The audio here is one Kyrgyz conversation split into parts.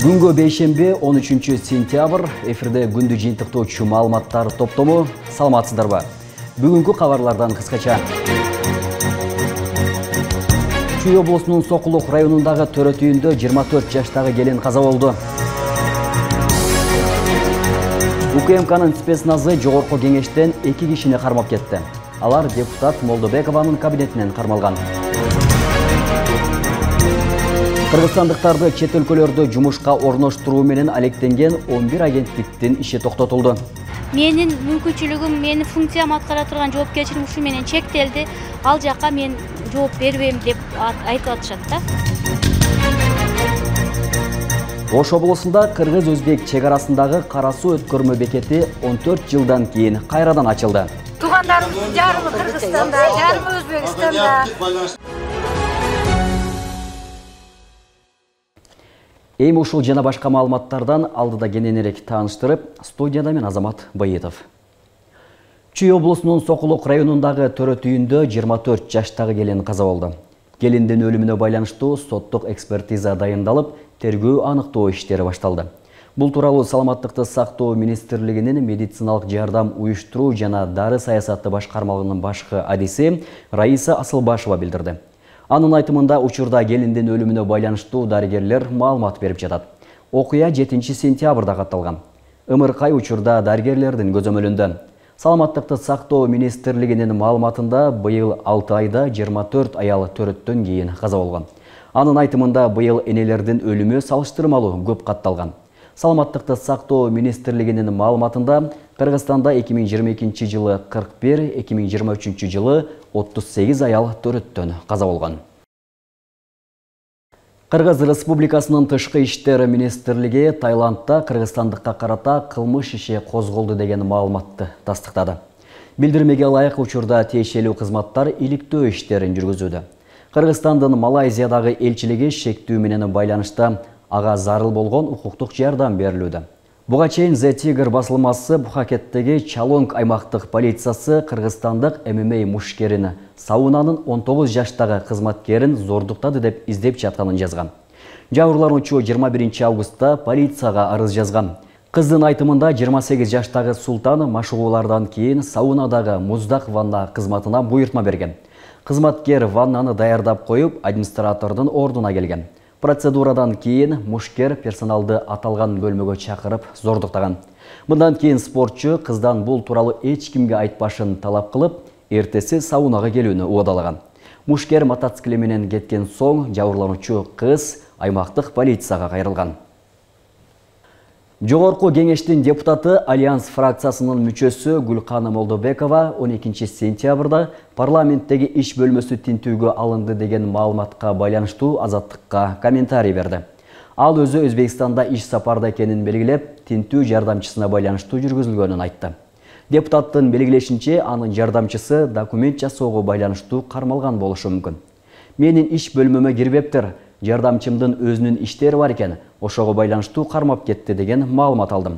Бүгүнкү бейшемби 13 сентябрь эфирде күндү жыйынтыктоочу маалыматтар топтому. Саламатсыздарбы? Бүгүнкү кабарлардан кыскача. Чүй облусунун Сокулук районундагы төрөт үйүндө 24 жаштагы келин каза болду. УКМКнын спецназы жогорку кеңештен 2 кишини кармап кетти. Алар депутат Молдобекованын кабинетинен кармалган. Кыргызстандыктарды чет өлкөлөрдө жумушка орноштуруу менен алектенген 11 агенттиктин иши токтотулду. Менин мүмкүнчүлүгүм, менин функциям аткара турган жоопкерчилигим ушу менен чектелди. Ал жакка мен жооп бербейм деп айтып атышат да. Ош облусунда кыргыз-өзбек чек арасындагы Кара суу өткөрмө бекети 14 жылдан кийин кайрадан ачылды. Туугандарыбыздын жарымы Кыргызстанда, жарымы Өзбекстанда. Эми ушул жана башка маалыматтардан алдыда кененирээк тааныштырып, студияда мен Азамат Байытов. Чүй облусунун Сокулук районундагы төрөт үйүндө 24 жаштагы келин каза болду. Келиндин өлүмүнө байланыштуу соттук экспертиза дайындалып, тергөө аныктоо иштери башталды. Бул тууралуу Саламаттыкты сактоо министрлигинин медициналык жардам уюштуруу жана дары саясаты башкармалыгынын башкы адиси Раиса Асылбашева билдирди. Анын айтымында учурда келиндин өлүмүнө байланыштуу дарыгерлер маалымат берип жатат. Окуя 7 сентябрда катталган. Ымыркай учурда дарыгерлердин көзөмөлүндө. Саламаттыкты сактоо министрлигинин маалыматында быйыл 6 айда 24 аял төрөттөн кийин каза болгон. Анын айтымында быйыл энелердин өлүмү салыштырмалуу көп катталган. Саламаттыкты сактоо министрлигинин маалыматында Кыргызстанда 2022 жылы 41, 2023 жылы 38 аял төрөттөн каза болгон. Кыргыз Республикасынын тышкы иштер министрлиги Таиландда кыргызстандыкка карата кылмыш иши козголду деген маалыматты тастыктады. Билдирмеге ылайык учурда тиешелүү кызматтар иликтөө иштерин жүргүзүүдө. Кыргызстандын Малайзиядагы элчилиги шектүү менен байланышта ага зарыл болгон укуктук жардам берилүүдө. Буга чейин The Tiger басылмасы Бухакеттеги Чалонг аймактык полициясы кыргызстандык ММА мушкерин саунанын 19 жаштагы кызматкерин зордуктады деп издеп жатканын жазган. Жабырлануучу 21 августта полицияга арыз жазган. Кыздын айтымында 28 жаштагы Султан машыгуулардан кийин саунадагы муздак ванна кызматына буйртма берген. Кызматкер ваннаны даярдап коюп, администратордун ордуна келген. Процедурадан кийин мушкер персоналды аталган бөлмөгө чакырып зордуктаган. Мындан кийин спортчу кыздан бул тууралуу эч кимге айтпашын талап кылып, эртеси саунага келүүнү уадалаган. Мушкер мотоцикли менен кеткен соң жабырлануучу кыз аймактык полицияга кайрылган. Жогорку кеңештин депутаты Альянс фракциясынын мүчөсү Гүлкана Молдобекова 12 сентябрда парламенттеги иш бөлмөсү тинтүүгө алынды деген маалыматка байланыштуу Азаттыкка комментарий берди. Ал өзү Өзбекстанда иш сапарда экенин белгилеп, тинтүү жардамчысына байланыштуу жүргүзүлгөнүн айтты. Депутаттын белгилешинче, анын жардамчысы документ жасоого байланыштуу кармалган болушу мүмкүн. Менин иш бөлмөмө кирбептир, жардамчымдын өзүнүн иштери бар экен, ошого байланыштуу кармап кетти деген маалымат алдым.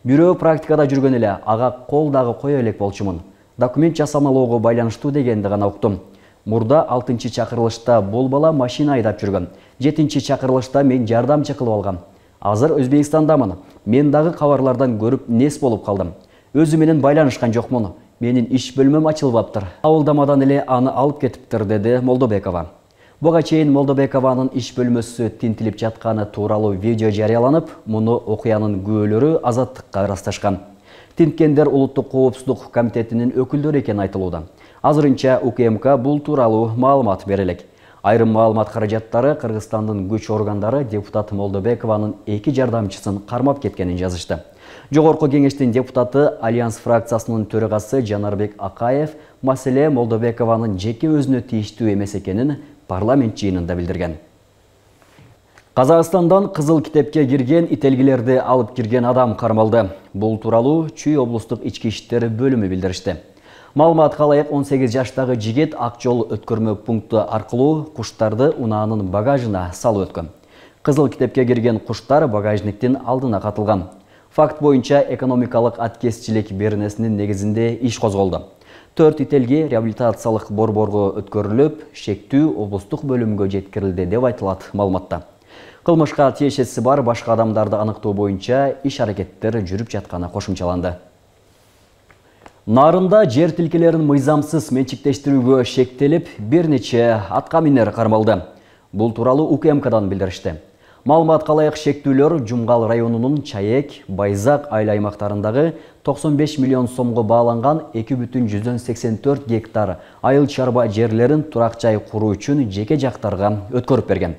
Бирөө практикада жүргөн эле, ага кол дагы кое элек болчумун. Документ жасамалоого байланыштуу дегенди гана уктум. Мурда 6-чы чакырылышта бул бала машина айдап жүргөн. 7-чи чакырылышта мен жардамчы кылып алгам. Азыр Өзбекстандамын. Мен дагы кабарлардан көрүп нес болуп калдым. Өзү менен байланышкан жокмун. Менин иш бөлмөм ачылбаптыр. Абылдамадан эле аны алып кетиптир, деди Молдобекова. Буга чейин Молдобекованын иш бөлмөсү тинтилип жатканы тууралуу видео жарыяланып, муну окуянын күбөлөрү Азаттыкка ырасташкан. Тинткендер улуттук коопсуздук комитетинин өкүлдөрү экени айтылууда. Азырынча УКМК бул тууралуу маалымат берелек. Айрым маалымат каражаттары Кыргызстандын күч органдары депутат Молдобекованын 2 жардамчысын кармап кеткенин жазышты. Жогорку кеңештин депутаты Альянс фракциясынын төрагасы Жанарбек Акаев маселе Молдобекованын жеке өзүнө тийиштүү эмес экенин парламент жыйынында билдирген. Казакстандан кызыл китепке кирген ителгилерди алып кирген адам кармалды. Бул тууралуу Чүй облустук ички иштер бөлүмү билдиришти. Маалыматка ылайык 18 жаштагы жигит ак жол өткөрмө пункту аркылуу куштарды унаанын багажына салып өткөн. Кызыл китепке кирген куштар багажниктин алдына катылган. Факт боюнча экономикалык аткезчилик беренесинин негизинде иш козголду. 4 ителги реабилитациялык борборго өткөрүлүп, шектүү облустук бөлүмгө жеткирилди деп айтылат маалыматта. Кылмышка тиешеси бар башка адамдарды аныктоо боюнча иш-аракеттер жүрүп жатканы кошумчаланды. Нарында жер тилкелерин мыйзамсыз менчиктештирүүгө шектелип, бир нече атка минер кармалды. Бул тууралуу УКМКдан билдиришти. Маалыматка ылайык шектүүлөр Жумгал районунун Чаек, Байзак айыл аймактарындагы 95 миллион сомго бааланган 2,84 гектар айыл чарба жерлерин турак жай куруу үчүн жеке жактарга өткөрүп берген.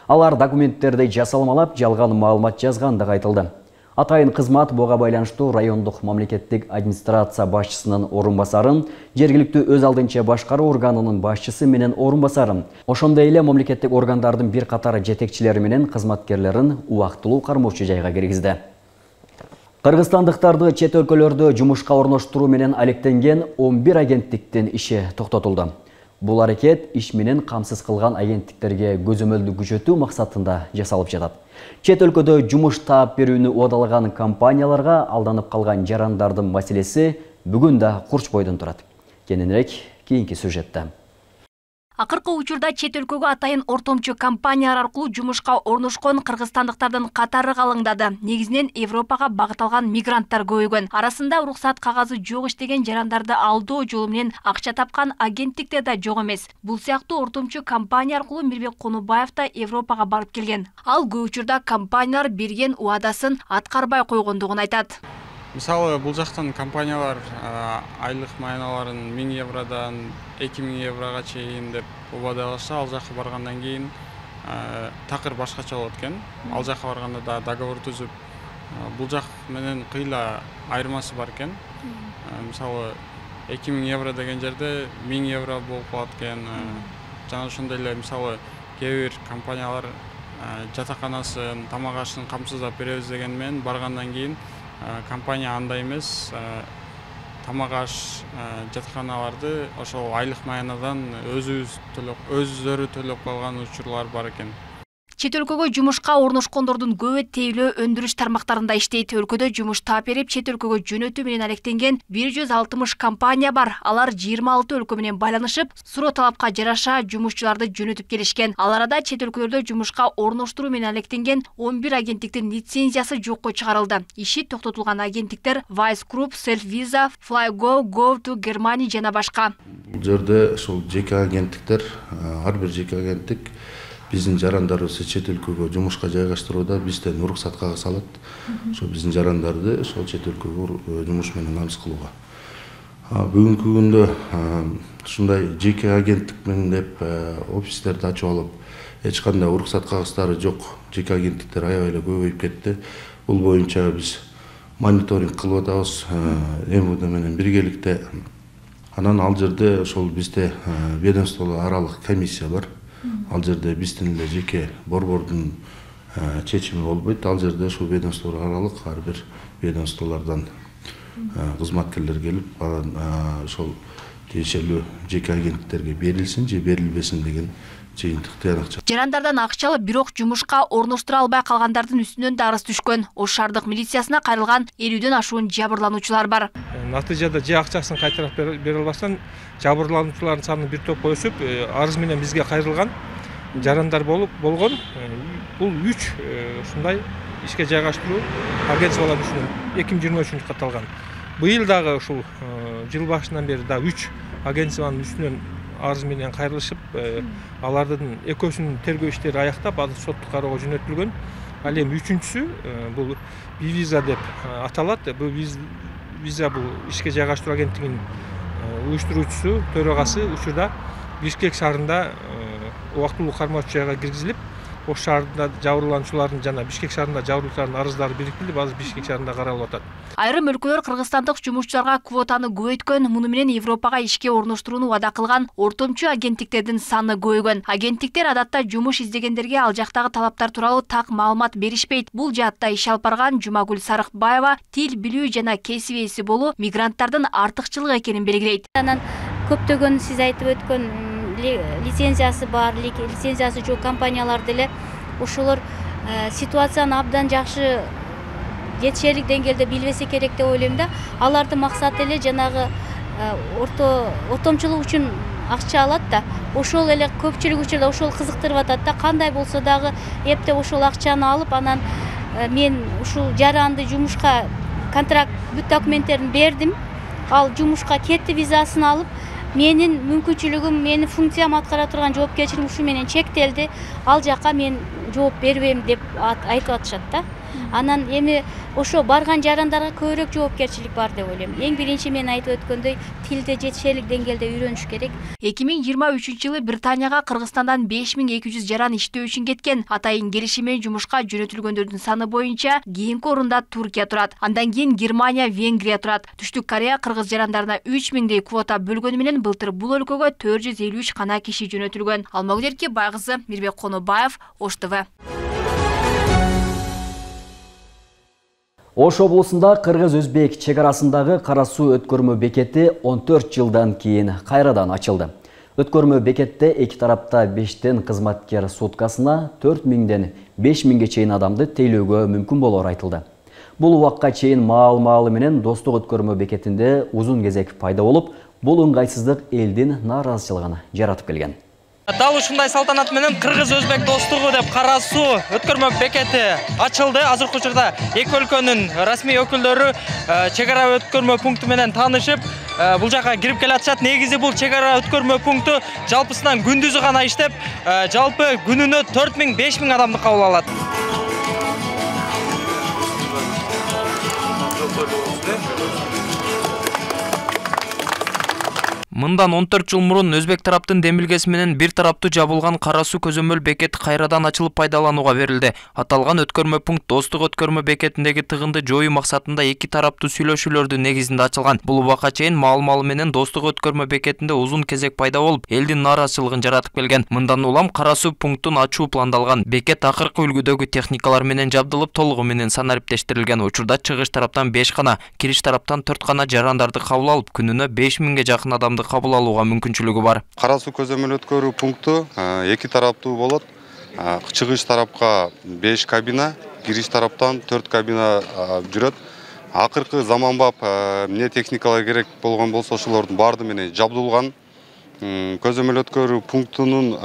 Алар документтерди жасалмалап, жалган маалымат жазгандыгы айтылды. Атайын кызмат буга байланыштуу райондук мамлекеттик администрация башчысынын орун басарын, жергиликтүү өз алдынча башкаруу органынын башчысы менен орун басарын, ошондой эле мамлекеттик органдардын бир катар жетекчилери менен кызматкерлерин убактылуу кармоочу жайга киргизди. Кыргызстандыктарды чет өлкөлөрдө жумушка орноштуруу менен алектенген 11 агенттиктин иши токтотулду. Бул аракет иш менен камсыз кылган агенттиктерге көзөмөлдү күчөтүү максатында жасалып жатат. Чет өлкөдө жумуш таап берүүнү уадалаган компанияларга алданып калган жарандардын маселеси бүгүн да курч бойдон турат. Кененирээк кийинки сюжетте. Акыркы учурда чет өлкөгө атайын ортомчу компаниялар аркылуу жумушка орношкон кыргызстандыктардын катары калыңдады. Негизинен Европага багыт алган мигранттар көбөйгөн. Арасында уруксат кагазы жок иштеген жарандарды алдоо жолу менен акча тапкан агенттиктер да жок эмес. Бул сыяктуу ортомчу компания аркылуу Мирбек Конубаев да Европага барып келген. Ал көп учурда компаниялар берген уадасын аткарбай койгондугун айтат. Мисалы, бул жактан компаниялар айлык майналарын 1000 евродан 2000 еврога чейин деп убадалашса, ал жакка баргандан кийин такыр башкача болот экен. Ал жакка барганда да договор түзүп, бул жак менен кыйла айырмасы бар экен. Мисалы, 2000 евро деген жерде 1000 евро болуп калат экен. Жана ошондой эле мисалы кээ бир компаниялар жатаканасын, тамак ашын камсыздап беребиз деген менен баргандан кийин компания андай эмес, тамак аш жатаканаларды ошол айлык маянадан өздөрү төлөп калган учурлар бар экен. Чет өлкөгө жумушка орношкондордун көбү тейлөө өндүрүш тармактарында иштейт. Өлкөдө жумуш таап берип, чет өлкөгө жөнөтүү менен алектенген 160 компания бар. Алар 26 өлкө менен байланышып, суроо талапка жараша жумушчуларды жөнөтүп келишкен. Ал арада чет өлкөлөрдө жумушка орноштуруу менен алектенген 11 агенттиктин лицензиясы жокко чыгарылды. Иши токтотулган агенттиктер Vice Group, Self Visa, Flygo, Go to Germany жана башка. Бул жерде ошол жеке агенттиктер, ар бир жеке агенттик биздин жарандарыбызды чет өлкөгө жумушка жайгаштырууда бизден уруксат кагаз алат. Ошо биздин жарандарды ошол чет өлкөгө жумуш менен намыс кылууга. Бүгүнкү күндө ушундай жеке агенттик менен деп офистерди ачып алып, эч кандай уруксат кагыздары жок жеке агенттиктер аябай эле көбөйүп кетти. Бул боюнча биз мониторинг кылып атабыз МВД менен биргеликте. Анан ал жерде ошол бизде ведомство аралык комиссия бар. Ал жерде биздин эле жеке борбордун чечими болбойт. Ал жерде ушул ведомство аралык ар бир ведомстволордон кызматкерлер келип, ошол тиешелүү жеке агенттиктерге берилсин же берилбесин деген жыйынтык тыянак. Жарандардан акча алып, бирок жумушка орноштура албай калгандардын үстүнөн да арыз түшкөн. Ош шаардык милициясына кайрылган 50ден ашуун жабырлануучулар бар. Натыйжада же акчасын кайтарып бере албастан жабырлануучулардын саны бир топко өсүп, арыз менен бизге кайрылган жарандар болгон. Бул 3 ушундай ишке жайгаштыруу агентстволор үчүн 2023 катталган. Быйыл дагы ушул жыл башынан бери да 3 агентствонун үстүнөн арыз менен кайрылышып, алардын экөөсүнүн тергөө иштери аяктап, азыр соттук кароого жөнөтүлгөн. Ал эми үчүнчүсү бул виза деп аталат. Бул виза бул ишке жайгаштыруу агенттигинин уюштуруучусу, төрагасы учурда Бишкек шаарында убактылуу кармоочу жайга киргизилип, Ош шаарында жабырлануучулардын жана Бишкек шаарында жабырлануучулардын арыздары бириктирип, азыр Бишкек шаарында каралып атат. Айрым өлкөлөр кыргызстандык жумушчуларга квотаны көбөйткөн, муну менен Европага ишке орноштурууну убада кылган ортомчу агенттиктердин саны көбөйгөн. Агенттиктер адатта жумуш издегендерге ал жактагы талаптар тууралуу так маалымат беришпейт. Бул жаатта иш алып барган Жумагүл Сарыкбаева тил билүү жана кесип ээси болуу мигранттардын артыкчылыгы экенин белгилейт. Анан көптөгөн сиз айтып өткөн лицензиясы бар, лицензиясы жок компаниялар деле ошолор ситуацияны абдан жакшы жетишерлик деңгээлде билбесе керек деп ойлойм да. Алардын максаты эле жанагы ортомчулук үчүн акча алат да, ошол эле көпчүлүк учурда ошол кызыктырып атат да. Кандай болсо дагы эптеп ошол акчаны алып, анан мен ушул жаранды жумушка контракт бүт документтерин бердим. Ал жумушка кетти, визасын алып, менин мүмкүнчүлүгүм, менин функциям аткара турган жоопкерчилигим ушу менен чектелди. Ал жака мен жооп бербейм деп айтып атышат да. Анан эми ошо барган жарандарга көбүрөөк жоопкерчилик бар деп ойлойм. Эң биринчи мен айтып өткөндөй, тилде жетишерлик деңгээлде үйрөнүш керек. 2023-жылы Британияга Кыргызстандан 5200 жаран иштөө үчүн кеткен. Атайын келишим менен жумушка жөнөтүлгөндөрдүн саны боюнча кийинки орунда Туркия турат. Андан кийин Германия, Венгрия турат. Түштүк Корея кыргыз жарандарына 3000дей квота бөлгөнү менен былтыр бул өлкөгө 453 гана киши жөнөтүлгөн. Алмагүл Байгызы, Мирбек Конобаев, Ош ТВ. Ош облусунда кыргыз-өзбек чек арасындагы кара суу өткөрмө бекети 14 жылдан кийин кайрадан ачылды. Өткөрмө бекетте эки тарапта 5тен кызматкер суткасына 4000ден 5000ге чейин адамды тейлөөгө мүмкүн болор айтылды. Бул убакка чейин маал-маалы менен достук өткөрмө бекетинде узун кезек пайда болуп, бул ыңгайсыздык элдин нааразычылыгын жаратып келген. Дал ушундай салтанат менен кыргыз-өзбек достугу деп кара суу өткөрмө бекети ачылды. Азыркы учурда эки өлкөнүн расмий өкүлдөрү чек ара өткөрмө пункту менен таанышып, бул жака кирип келатышат. Негизи бул чек ара өткөрмө пункту жалпысынан күндүзү гана иштеп, жалпы күнүнө 4000-5000 адамды кабыл алат. Мындан 14 жыл мурун өзбек тараптын демилгеси менен бир тараптуу жабылган кара суу көзөмөл бекети кайрадан ачылып пайдаланууга берилди. Аталган өткөрмө пункт достук өткөрмө бекетиндеги тыгынды жоюу максатында эки тараптуу сүйлөшүүлөрдүн негизинде ачылган. Бул убакка чейин маал-маалы менен достук өткөрмө бекетинде узун кезек пайда болуп, элдин нааразычылыгын жаратып келген. Мындан улам кара суу пунктун ачуу пландалган. Бекет акыркы үлгүдөгү техникалар менен жабдылып, толугу менен санариптештирилген. Учурда чыгыш тараптан 5 гана, кириш тараптан 4 гана жарандарды кабыл алып, күнүнө 5000ге жакын адамды кабыл алууга мүмкүнчүлүгү бар. Кара суу көзөмөл өткөрүү пункту эки тараптуу болот. Чыгыш тарапка 5 кабина, кириш тараптан 4 кабина жүрөт. Акыркы заманбап эмне техникалар керек болгон болсо ошолордун баардыгы менен жабдылган. Көзөмөл өткөрүү пунктунун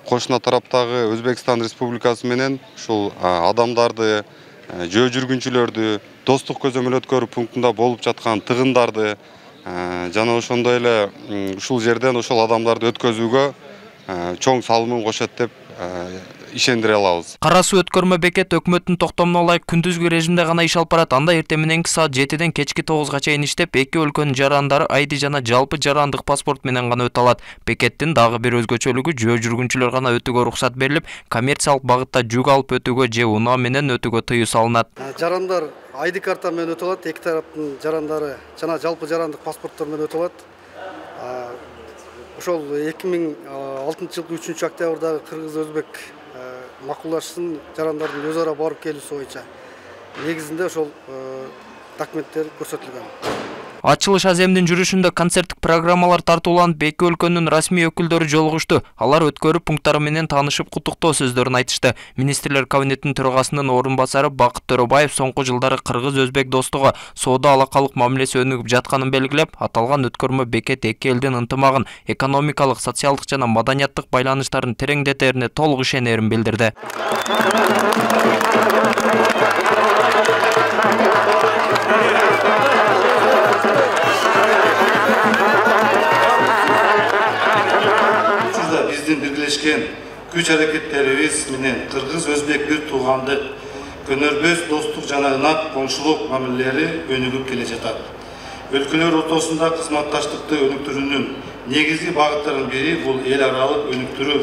кошуна тараптагы Өзбекстан Республикасы менен ушул адамдарды, жөө жүргүнчүлөрдү, достук көзөмөл өткөрүү пунктунда болуп жаткан тыгындарды жана ошондой эле ушул жерден ошол адамдарды өткөзүүгө чоң салымын кошот деп ишендире алабыз. Кара суу өткөрмө бекет өкмөттүн токтомуна ылайык күндүзгү режимде гана иш алып барат. Анда эртең мененки саат 7ден кечки 9га чейин иштеп, эки өлкөнүн жарандары ID жана жалпы жарандык паспорт менен гана өтө алат. Бекеттин дагы бир өзгөчөлүгү жөө жүргүнчүлөр гана өтүүгө уруксат берилип, коммерциялык багытта жүк алып өтүүгө же унаа менен өтүүгө тыюу салынат. Жарандар ID карта менен өтө алат, эки тараптын жарандары жана жалпы жарандык паспорттор менен өтө алат. Ошол 2006 жылкы 3 октябрдагы кыргыз-өзбек макулдашсын жарандардын өз ара барып келүүсү боюнча негизинде ошол документтер көрсөтүлгөн. Ачылыш аземдин жүрүшүндө концерттик программалар тартууланып, эки өлкөнүн расмий өкүлдөрү жолугушту. Алар өткөрүү пункттары менен таанышып, куттуктоо сөздөрүн айтышты. Министрлер кабинетинин төрагасынын орун басары Бакыт Төрөбаев соңку жылдары кыргыз-өзбек достугу соода алакалык мамилеси өнүгүп жатканын белгилеп, аталган өткөрмө бекет эки элдин ынтымагын, экономикалык, социалдык жана маданияттык байланыштарын тереңдетерине толук ишенерин билдирди. Биздин биргелешкен күч аракеттерибиз менен кыргыз-өзбек бир туугандык, көнөрбөс достук жана ынак коңшулук мамилелери өнүгүп келе жатат. Өлкөлөр ортосунда кызматташтыкты өнүктүрүүнүн негизги багыттарынын бири бул эл аралык өнүктүрүү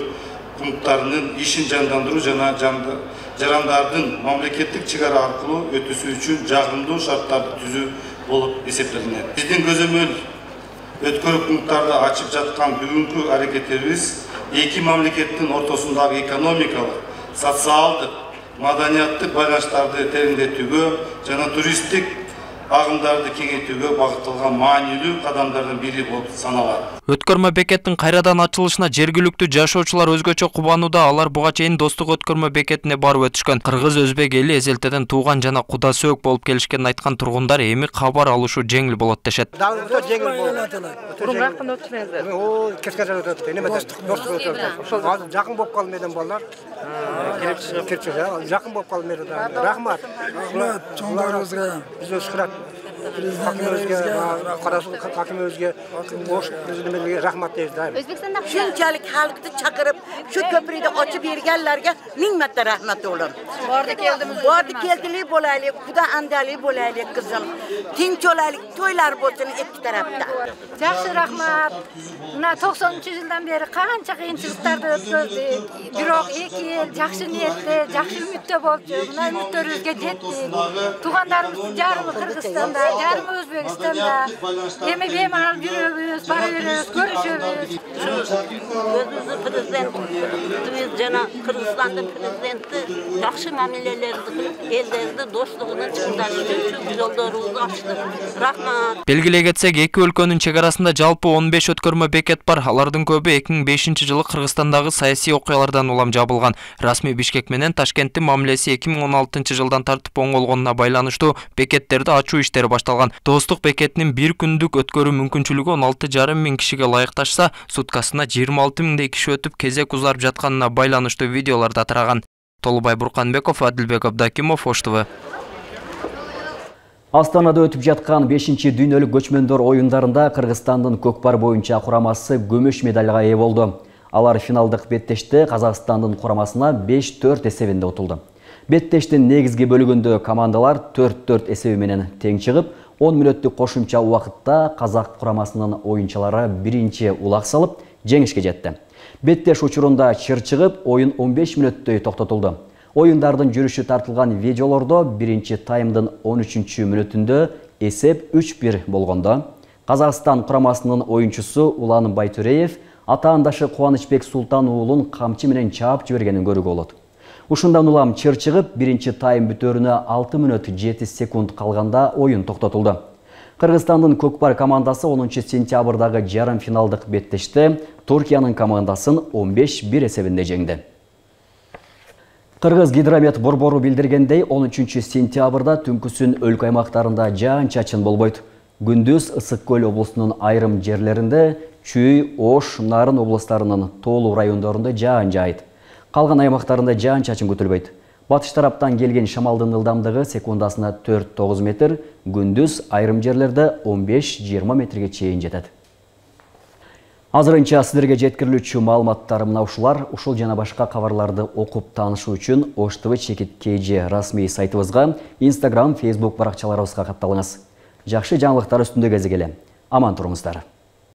пункттарынын ишин жандандыруу жана жарандардын мамлекеттик чек ара аркылуу өтүүсү үчүн жагымдуу шарттарды түзүү болуп эсептелинет. Биздин көзөмөл өткөрүү пункттарды ачып жаткан бүгүнкү аракеттерибиз эки мамлекеттин ортосундагы экономикалык, социалдык, маданияттык байланыштарды тереңдетүүгө жана туристтик агымдарды кеңейтүүгө багытталган маанилүү кадамдардын бири болуп саналат. Өткөрмө бекеттин кайрадан ачылышына жергиликтүү жашоочулар өзгөчө кубанууда. Алар буга чейин Достук өткөрмө бекетине барып өтүшкөн. Кыргыз өзбек эли эзелтеден тууган жана куда сөөк болуп келишкенин айткан тургундар эми кабар алышуу жеңил болот дешет. Жакын болуп калды менен балдар. Жакын болуп калды менен. Рахмат. Чоңдарыбызга биз өскүрөт. Rahmat deymiz. O'zbekistonda shunchalik xalqni chaqirib, shu ko'prikni ochib berganlarga ming marta rahmat olun. Bordi keldilik bo'laylik, xudo andalik bo'laylik qizim. Tinch olaylik, to'ylar bo'lsin ikki tarafda. Yaxshi rahmat. Mana 90-yildan beri qancha qiyinchiliklarni o'tkazdik. Biroq 2 yil yaxshi niyatda, yaxshi umidda bo'ldi. Buna umidlarimizga yetdik. Tug'anlarimiz jarimi Qirg'izistonda, jarimi O'zbekistonda. Endi bemalol yuribmiz, boraveramiz, ko'rishamiz. Prezident jana Qirg'izistonda prezidenti yaxshi ma'mulalarni qilib, ellerni do'stligini chiqarish uchun yo'llarimizni ochdi. Rahmat. Белгилей кетсек, эки өлкөнүн чек арасында жалпы 15 өткөрмө бекет бар. Алардын көбү 2005-жылы Кыргызстандагы саясий окуялардан улам жабылган. Расмий Бишкек менен Ташкенттин мамилеси 2016-жылдан тартып оңолгонуна байланыштуу бекеттерди ачуу иштери башталган. Достук бекетинин бир күндүк өткөрүү мүмкүнчүлүгү 16,5 миң кишиге ылайыкташса, суткасына 26 миңдей киши өтүп кезек узарып жатканына байланыштуу видеолорду тараган. Толубай Бурканбеков, Адилбек Абдакимов, Ош ТВ. Астанада өтүп жаткан 5-дүйнөлүк көчмөндөр оюндарында Кыргызстандын көкпар боюнча курамасы күмүш медалга ээ болду. Алар финалдык беттеште Казакстандын курамасына 5-4 эсебинде утулду. Беттештин негизги бөлүгүндө командалар 4-4 эсеби менен тең чыгып, 10 мүнөттүк кошумча убакытта Казак курамасынын оюнчулары биринчи улак салып, жеңишке жетти. Беттеш учурунда чыр чыгып, оюн 15 мүнөттөй токтотулду. Оюндардын жүрүшү тартылган видеолордо биринчи таймдын 13-мүнөтүндө эсеп 3-1 болгондо, Казакстан курамасынын оюнчусу Улан Байтүреев атаандашы Кубанычбек Султан уулун камчы менен чаап жибергенин көрүүгө болот. Ушундан улам чыр чыгып, биринчи тайм бүтөрүнө 6 мүнөт 7 секунд калганда оюн токтотулду. Кыргызстандын көкпар командасы 10-сентябрдагы жарым финалдык беттеште Туркиянын командасын 15-1 эсебинде жеңди. Кыргыз гидромет борбору билдиргендей, 13-сентябрда түнкүсүн өлкө аймактарында жаан-чачын болбойт. Күндүз Ысык көл облусунун айрым жерлеринде, Чүй, Ош, Нарын облустарынын тоолуу райондорунда жаан жаайт. Калган аймактарында жаан-чачын күтүлбөйт. Батыш тараптан келген шамалдын ылдамдыгы секундасына 4-9 метр, күндүз айрым жерлерде 15-20 метрге чейин жетет. Азырынча сиздерге жеткирилүүчү маалыматтар мына ушулар. Ушул жана башка кабарларды окуп таанышуу үчүн Ош ТВ чекит KG расмий сайтыбызга, Instagram, Facebook баракчаларыбызга катталыңыз. Жакшы жаңылыктар үстүндө кезигеле. Аман туруңуздар.